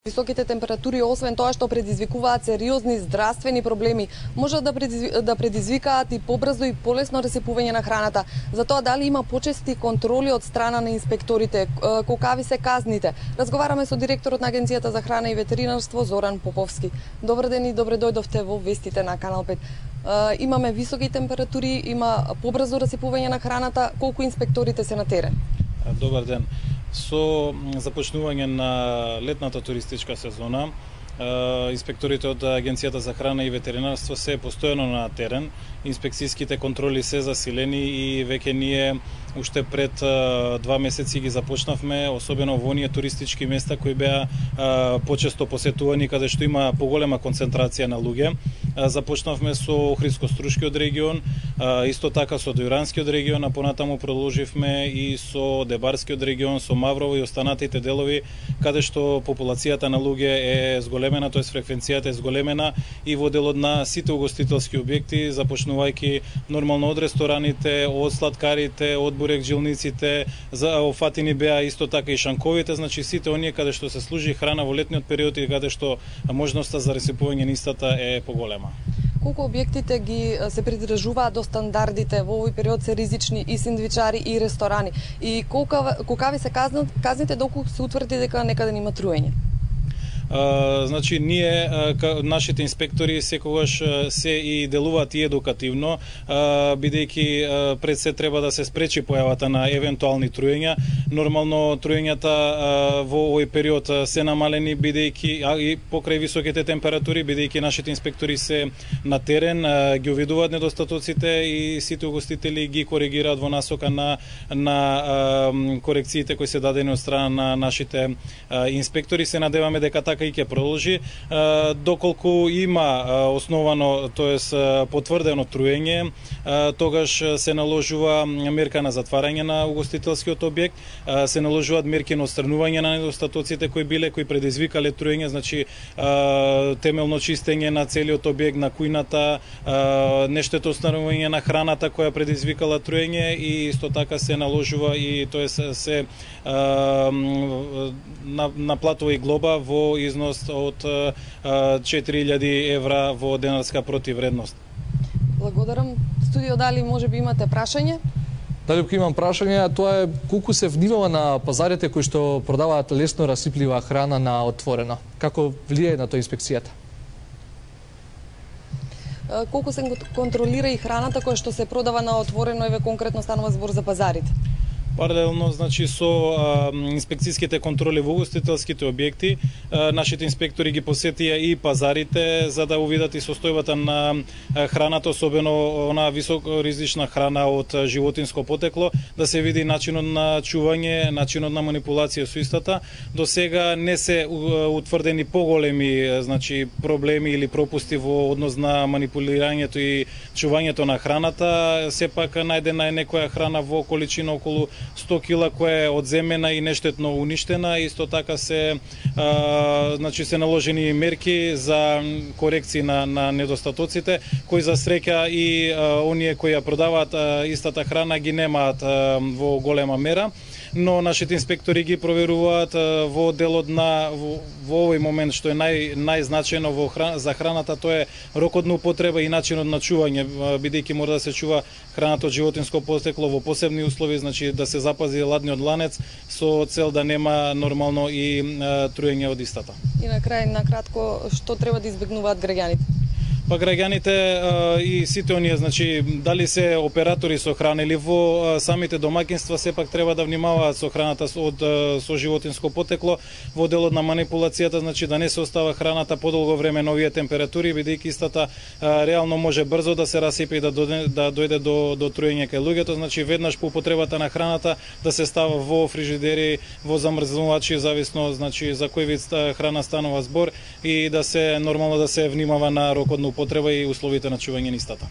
Високите температури, освен тоа што предизвикуваат сериозни здравствени проблеми, можат да предизвикаат и побрзо и полесно расипување на храната. Затоа дали има почести контроли од страна на инспекторите, колкави се казните? Разговараме со директорот на Агенцијата за храна и ветеринарство Зоран Поповски. Добар ден и добре дојдовте во вестите на Канал 5. Имаме високи температури, има побрзо расипување на храната, колку инспекторите се на терен? Добар ден. Со започнување на летната туристичка сезона, инспекторите од Агенцијата за храна и ветеринарство се постојано на терен. Инспекцијските контроли се засилени и веќе ние уште пред 2 месеци ги започнавме, особено во оние туристички места кои беа почесто посетувани, каде што има поголема концентрација на луѓе. Започнавме со Охридско-Струшкиот регион, исто така со Дојранскиот регион, а понатаму продолживме и со Дебарскиот регион, со Маврово и останатите делови, каде што популацијата на луѓе е зголемена, тоест фреквенцијата е зголемена и во делот на сите угостителски објекти, започнувајќи нормално од рестораните, од сладкарите, од бурекджилниците, офатини беа исто така и шанковите, значи сите оние каде што се служи храна во летниот период и каде што можноста за расипување на истата е поголема. Колку објектите ги се придржуваат до стандардите во овој период се ризични и сендвичари и ресторани? И колкави се казните доколку се утврди дека некаде има труење? Значи, ние, нашите инспектори секогаш се и делуваат и едукативно, бидејќи пред се треба да се спречи појавата на евентуални труења. Нормално труењата во овој период се намалени бидејќи и покрај високите температури, бидејќи нашите инспектори се на терен, ги увидуваат недостатоците и сите угостители ги коригираат во насока на корекциите кои се дадени од страна на нашите инспектори. Се надеваме дека така и ќе продолжи, доколку има основано, тоест потврдено труење, тогаш се наложува мерка на затварање на угостителскиот објект, се наложуваат мерки на отстранување на недостатоците кои предизвикале труење, значи темелно чистење на целиот објект, на кујната, нештето отстранување на храната која предизвикала труење и исто така се наложува и тоест се наплатува и глоба во износ од 4000 евра во денарска противредност. Благодарам. Студио, дали може би имате прашање? Дали имам прашање, тоа е колку се внимава на пазарите кои што продаваат лесно расиплива храна на отворено. Како влијае на тоа инспекцијата? Колку се контролира и храната која што се продава на отворено, еве конкретно станува збор за пазарите? Паралелно, значи, со инспекцијските контроли во угостителските објекти, нашите инспектори ги посетија и пазарите за да увидат и состојбата на храната, особено она високоризична храна од животинско потекло, да се види начинот на чување, начинот на манипулација со истата. До сега не се утврдени поголеми, значи, проблеми или пропусти во однос на манипулирањето и чувањето на храната. Сепак најдена е некоја храна во количина околу 100 кила која е одземена и нештетно уништена. Исто така се наложени мерки за корекции на недостатоците, кои за среќа и оние кои ја продаваат истата храна ги немаат во голема мера, но нашите инспектори ги проверуваат во делот на во овој момент што е најзначено за храната, тоа е рокот на употреба и начинот на чување, бидејќи мора да се чува храната од животинско потекло во посебни услови, значи да се запази ладниот ланец со цел да нема нормално и труење од истата. И на крај, накратко, што треба да избегнуваат граѓаните? Па граѓаните и сите оние, значи, дали се оператори со храна или во самите домаќинства, сепак треба да внимаваат со храната со животинско потекло, во делот на манипулацијата, значи да не се остава храната подолго време на овие температури, бидејќи истата реално може брзо да се расипе и да дојде до труење кај луѓето, значи веднаш по употребата на храната да се става во фрижидери, во замрзнувачи, зависно, значи, за кој вид храна станува збор и да се нормално да се внимава на рокот на употреба и условите на чување на истата.